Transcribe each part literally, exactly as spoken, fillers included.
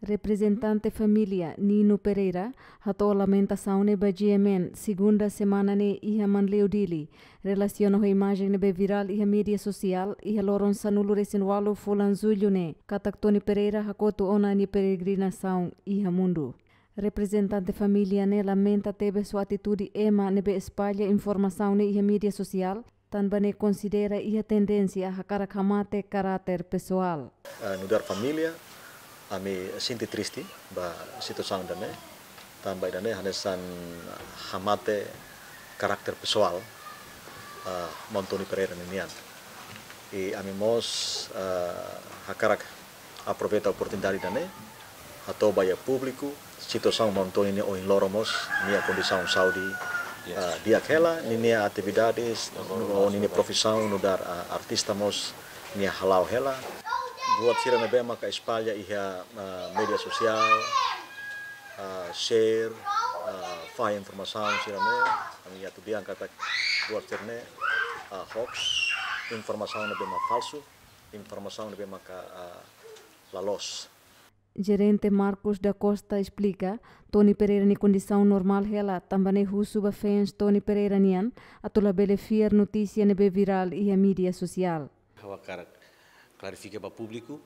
Reprezentante família Nino Pereira hato'o lamentasaun ne'e ba G M N, segunda semana ne'e iha Manleu, Dili, relasiona ho imajen ne'ebé virál iha média sosiál iha loron sanulu-resin-ualu fulan Jullu ne'e, katak Tony Pereira hakotu ona nia peregrinasaun iha mundu. Reprezentante família ne'e lamenta tebes ho atitude ema ne'ebé espalla informasaun ne'e iha média sosiál, tanba ne'e konsidera iha tendénsia hakarak hamate karáter pesoál. Eh, nu'udar família, ami sente triste ba situasaun ida-ne'e, tanba ida-ne'e hanesan hamate karáter pesoál, eh, Maun Tony Pereira ninian. I ami mós, eh, hakarak aproveita oportunidade ida-ne'e, hato'o ba iha públiku situasaun Maun Tony nian ohin loron mós, nia kondisaun saúde, yes, ah, di'ak hela, ninia atividades, no ninia profisaun nu'udar, ah, artista mós nia hala'o hela. Buat sira ne'ebé maka espalla iha, ah, média sosiál, ah, share, ah, fahe informasaun sira-ne'e, ami atu dehan katak buat sira-ne'e, ah, hoax, informasaun ne'ebé mak falsu, informasaun ne'ebé maka, ah, la loos. Jerente Marcos da Costa esplika, Tony Pereira nia kondisaun normál hela, tanba ne'e husu ba fans Tony Pereira nian atu labele fiar notísia ne'ebé virál iha média sosiál. Ha'u hakarak klarifika ba públiku,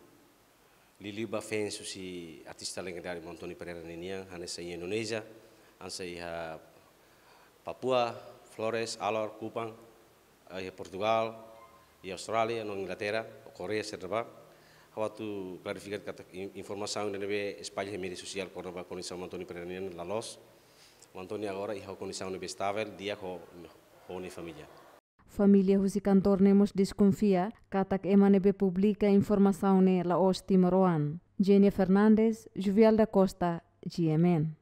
liuliu ba fans husi artista legendáriu Maun Tony Pereira ninian, hanesan iha Indonézia, hanesan iha Papua, Flores, Alor, Kupang, eh, iha Portugal, iha Austrália, no Inglaterra, Koreia, sira ne'ebá. Ha'u atu klarifika katak in-, informasaun ne'ebé espalla iha média sosiál kona-ba kondisaun Maun Tony Pereira nian la loos. Maun Tony agora iha kondisaun ne'ebé estável, di'ak ho, ho nia família. Família husi kantór ne'e mós deskonfia katak ema ne'ebé publika informasaun ne'e la'ós timoroan. Jenia Fernandes, Juvial da Costa, G M N.